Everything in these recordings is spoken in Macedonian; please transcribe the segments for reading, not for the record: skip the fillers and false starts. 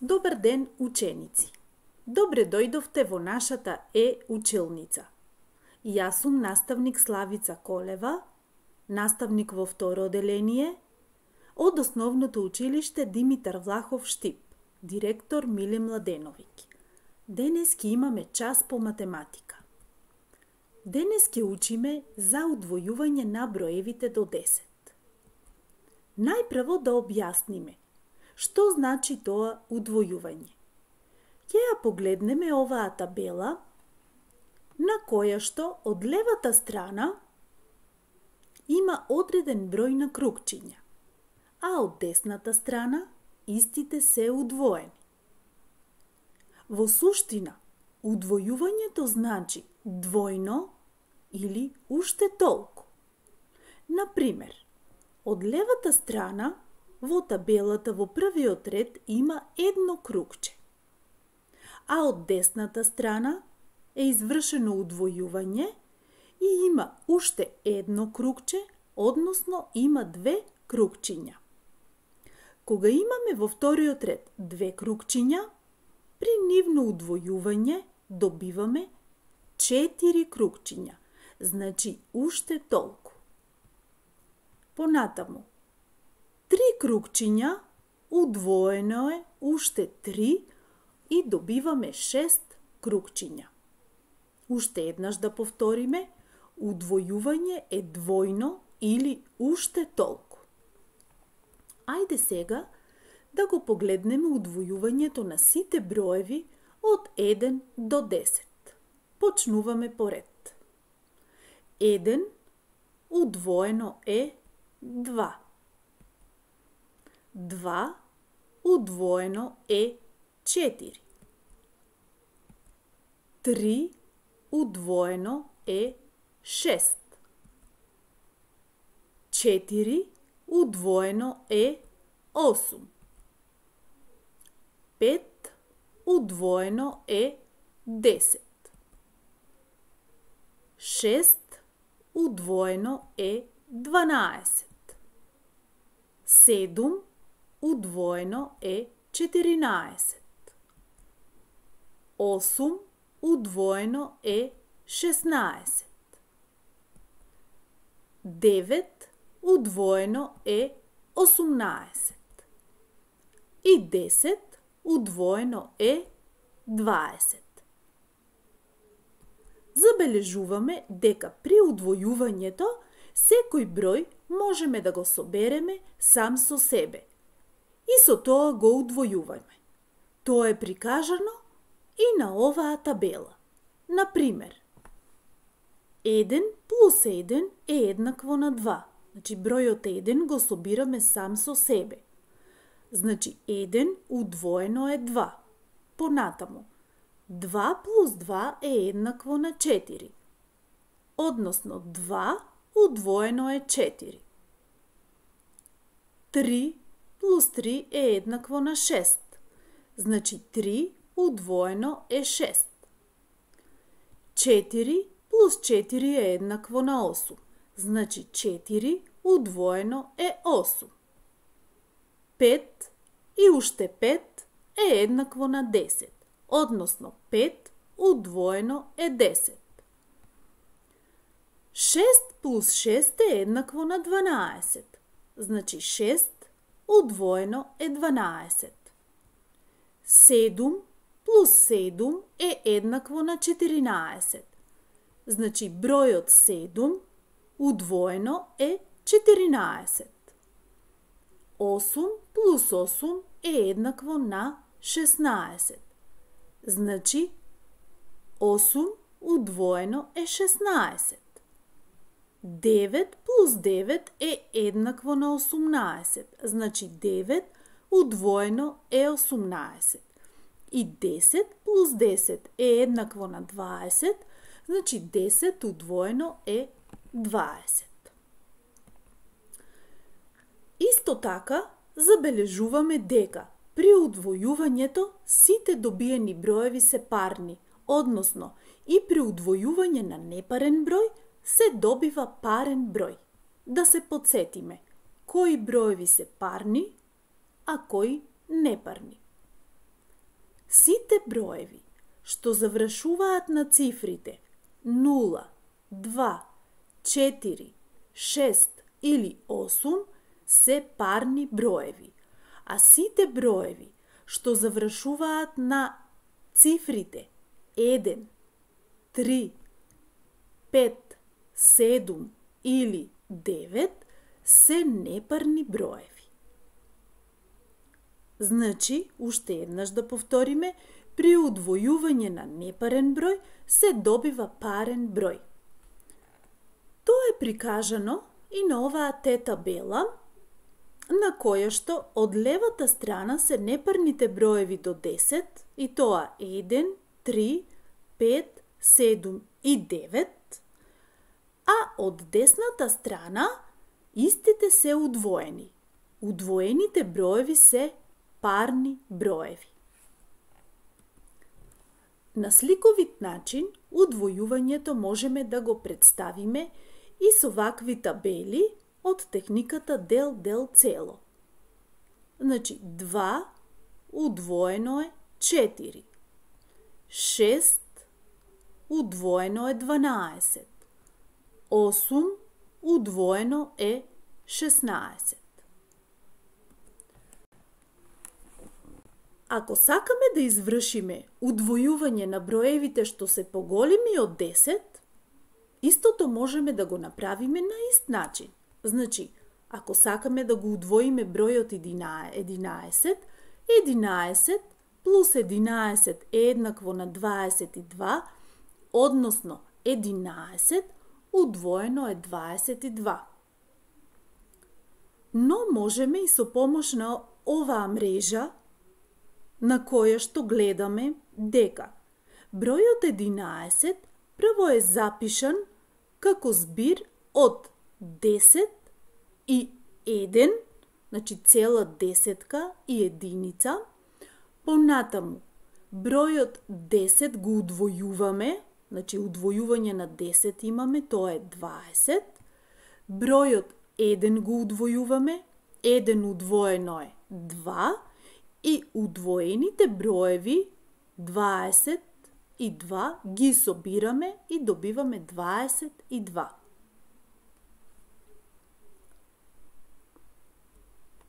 Добар ден, ученици! Добре дојдовте во нашата училница. Јас сум наставник Славица Колева, наставник во второ оделение, од Основното училиште Димитар Влахов Штип, директор Миле Младеновиќ. Денес ќе имаме час по математика. Денес ќе учиме за удвојување на броевите до 10. Најпрво да објасниме што значи тоа удвојување. Ќе ја погледнеме оваа табела, на која што од левата страна има одреден број на кругчиња, а од десната страна истите се удвоени. Во суштина, удвојувањето значи двојно или уште толку. Например, од левата страна во табелата во првиот ред има едно кругче, а од десната страна е извршено удвојување и има уште едно кругче, односно има две кругчиња. Кога имаме во вториот ред две кругчиња, при нивно удвојување добиваме 4 кругчиња, значи уште толку. Понатаму, 3 кругчиња удвоено е уште 3 и добиваме 6 кругчиња. Уште еднаш да повториме, удвојување е двојно или уште толку. Ајде сега да го погледнеме удвојувањето на сите броеви од 1 до 10. Почнуваме по ред. 1 удвоено е 2. 2 удвоено е 4. 3 удвоено е 6. 4 удвоено е 8. 5 удвоено е 10. 6 удвоено е 12. 7 удвоено е 14. 8 удвоено е 16. 9 удвоено е 18. И 10 удвоено е 20. Забележуваме дека при удвојувањето секој број можеме да го собереме сам со себе и со тоа го удвојуваме. Тоа е прикажано и на оваа табела. Например, 1 плюс 1 е еднакво на 2. Значи, бројот 1 го собираме сам со себе. Значи, 1 удвоено е 2. Понатаму, 2 плюс 2 е еднакво на 4. Односно, 2 удвоено е 4. 3 плюс 3 е еднакво на 6. Значи, 3 удвоено е 6. 4 плюс 4 е еднакво на 8. Значи, 4 удвоено е 8. 5 и уште 5 е еднакво на 10. Односно, 5 удвоено е 10. 6 плюс 6 е еднакво на 12. Значи, 6 удвоено е 12. 7 плюс 7 е еднакво на 14. Значи, бројот 7 удвоено е 14. 8 плюс 8 е еднакво на 16. Значи, 8 удвоено е 16. 9 плюс 9 е еднакво на 18. Значи, 9 удвоено е 18. И 10 плюс 10 е еднакво на 20. Значи, 10 удвоено е 20. Исто така, забележуваме дека при удвојувањето сите добиени броеви се парни, односно и при удвојување на непарен број се добива парен број. Да се подсетиме, кои броеви се парни, а кои непарни. Сите броеви што завршуваат на цифрите 0, 2, 4, 6 или 8 се парни броеви, а сите броеви што завршуваат на цифрите 1, 3, 5, 7 или 9 се непарни броеви. Значи, уште еднаш да повториме, при удвојување на непарен број се добива парен број. Тоа е прикажано и на оваа табела, на која што од левата страна се непарните броеви до 10, и тоа 1, 3, 5, 7 и 9, а од десната страна истите се удвоени. Удвоените броеви се парни броеви. На сликовит начин, удвојувањето можеме да го представиме и со вакви табели од техниката дел цело. Значи, 2 удвоено е 4, 6 удвоено е 12, 8 удвоено е 16. Ако сакаме да извршиме удвојување на броевите што се поголеми од 10, истото можеме да го направиме на ист начин. Значи, ако сакаме да го удвоиме бројот 11, 11 плюс 11 е еднакво на 22, односно 11 удвоено е 22. Но можеме и со помош на оваа мрежа, на која што гледаме дека бројот 11 прво е запишан како збир од 10 и 1, значи цела десетка и единица, понатаму бројот 10 го удвојуваме, значи удвојување на 10 имаме, тоа е 20, бројот 1 го удвојуваме, 1 удвоено е 2, и удвоените броеви 20 и 2 ги собираме и добиваме 22.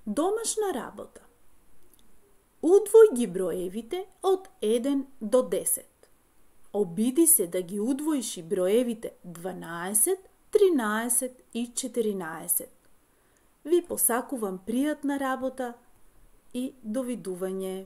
Домашна работа. Удвој ги броевите од 1 до 10. Обиди се да ги удвоиш и броевите 12, 13 и 14. Ви посакувам пријатна работа и довидување.